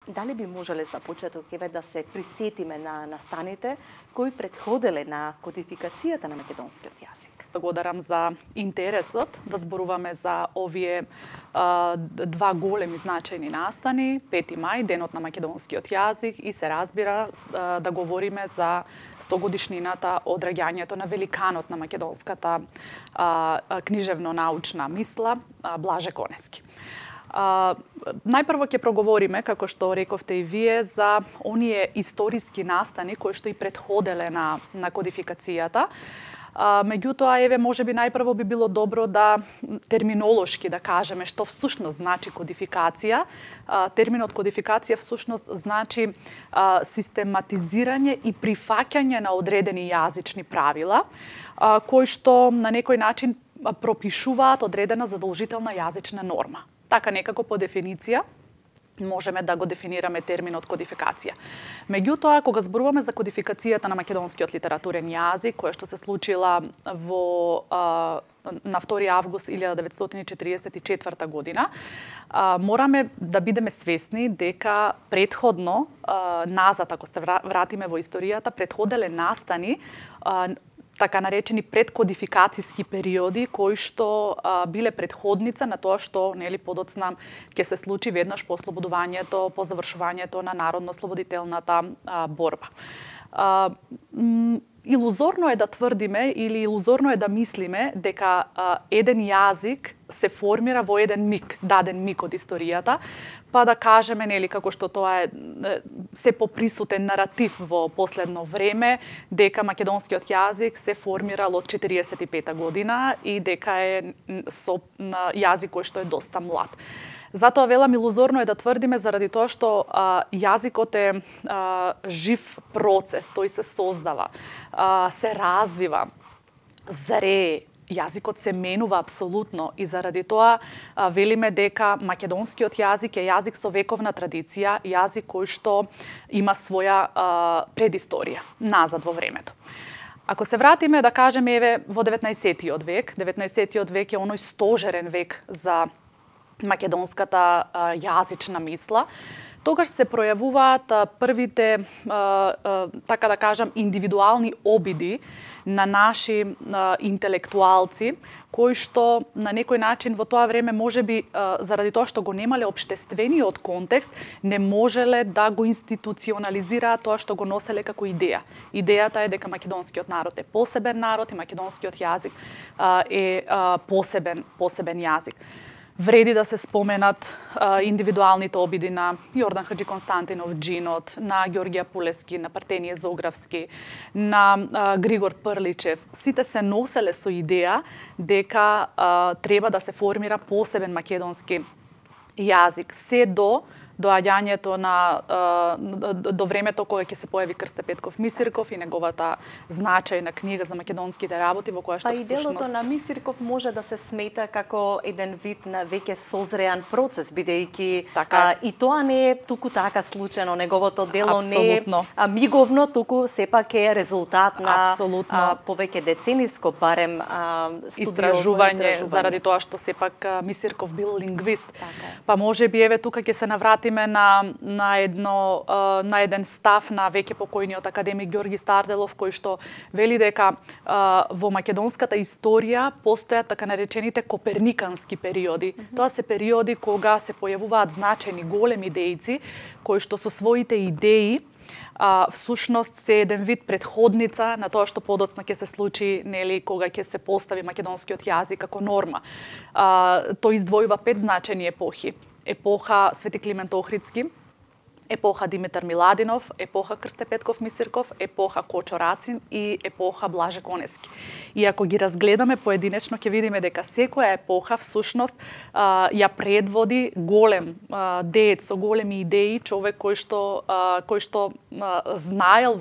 Дали би можеле за почеток еве да се присетиме на настаните кои претходеле на кодификацијата на македонскиот јазик? Благодарам за интересот да зборуваме за овие два големи значајни настани, 5 мај, денот на македонскиот јазик, и се разбира да говориме за 100-годишнината од раѓањето на великанот на македонската книжевно-научна мисла Блаже Конески. Најпрво ќе проговориме, како што рековте и вие, за оние историски настани кои што и претходеле на кодификацијата. Меѓутоа, еве, можеби најпрво би било добро да терминолошки да кажеме што всушност значи кодификација. Терминот кодификација всушност значи систематизирање и прифаќање на одредени јазични правила, кои што на некој начин пропишуваат одредена задолжителна јазична норма. Така некако по дефиниција можеме да го дефинираме терминот кодификација. Меѓутоа, кога зборуваме за кодификацијата на македонскиот литературен јазик, која што се случила на 2 август 1944 година, мораме да бидеме свесни дека претходно, назад, ако се вратиме во историјата, претходеле настани така наречени предкодификацијски периоди кои што биле предходница на тоа што подоцна ќе се случи веднаш по ослободувањето, по завршувањето на народно-ослободителната борба. Илузорно е да тврдиме или илузорно е да мислиме дека еден јазик се формира во еден миг, даден миг од историјата, па да кажеме, како што тоа е се поприсутен наратив во последно време, дека македонскиот јазик се формирал од 45 година и дека е јазик кој што е доста млад. Затоа велам илузорно е да тврдиме заради тоа што јазикот е жив процес, тој се создава, се развива, зрее. Јазикот се менува апсолутно и заради тоа велиме дека македонскиот јазик е јазик со вековна традиција, јазик кој што има своја предисторија назад во времето. Ако се вратиме да кажеме еве во 19-тиот век, 19-тиот век е оној стожерен век за македонската јазична мисла, тогаш се пројавуваат првите, така да кажам, индивидуални обиди на наши интелектуалци, кои што на некој начин во тоа време можеби заради тоа што го немале општествениот контекст, не можеле да го институционализираат тоа што го носеле како идеја. Идејата е дека македонскиот народ е посебен народ и македонскиот јазик е посебен јазик. Вреди да се споменат индивидуалните обиди на Јордан Хаџи Константинов Джинот, на Ѓорѓе Апулески, на Партеније Зографски, на Григор Прличев. Сите се носеле со идеја дека треба да се формира посебен македонски јазик. Се до доаѓањето до времето кога ќе се појави Крсте Петков Мисирков и неговата значајна книга за македонските работи, во која што всушност... Па и делото на Мисирков може да се смета како еден вид на веќе созреан процес, бидејќи и тоа не е туку така случајно, неговото дело не е миговно, туку сепак е резултат на повеќе децениско барем истражување, заради тоа што сепак Мисирков бил лингвист. Па можеби еве тука ќе се навратиме на еден став на веќе покојниот академик Ѓорги Старделов, кој што вели дека во македонската историја постојат така наречените коперникански периоди. Тоа се периоди кога се појавуваат значајни големи дејци, кои што со своите идеи всушност се еден вид предходница на тоа што подоцна ќе се случи, кога ќе се постави македонскиот јазик како норма. Тој издвојува 5 значајни епохи. Епоха Свети Климент Охридски, епоха Димитар Миладинов, епоха Крсте Петков Мисирков, епоха Кочо Рацин и епоха Блаже Конески. И ако ги разгледаме поединечно, ќе видиме дека секоја епоха всушност ја предводи голем деец со големи идеи, човек кој што знаел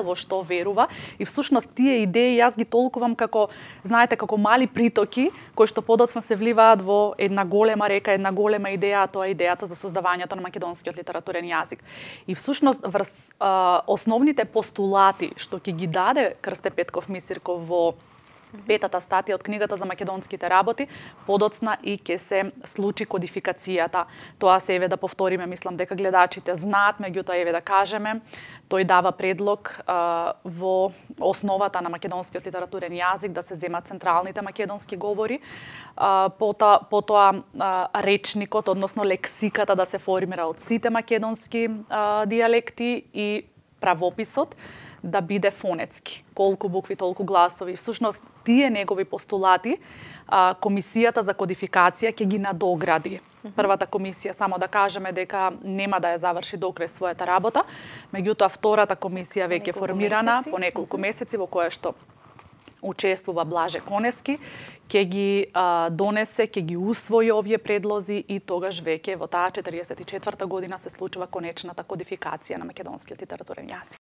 во што верува, и всушност тие идеи јас ги толкувам како, знаете, како мали притоки кои што подоцна се вливаат во една голема река, една голема идеја, а тоа е идејата за создавањето на македонскиот литературен јазик. И всушност врз основните постулати што ќе ги даде Крсте Петков Мисирков во Петата статија од книгата за македонските работи, подоцна и ќе се случи кодификацијата. Тоа се еве да повториме, мислам дека гледачите знаат, меѓутоа еве да кажеме, тој дава предлог во основата на македонскиот литературен јазик да се земат централните македонски говори, потоа речникот, односно лексиката да се формира од сите македонски дијалекти и правописот да биде фонетски. Колку букви, толку гласови. Всушност, тие негови постулати, Комисијата за кодификација ќе ги надогради. Првата комисија, само да кажеме дека нема да ја заврши докрај својата работа, меѓутоа втората комисија веќе формирана по неколку месеци, во која што учествува Блаже Конески, ќе ги донесе, ќе ги усвои овие предлози и тогаш веќе во таа 44-та година се случува конечната кодификација на македонскиот литературен јазик.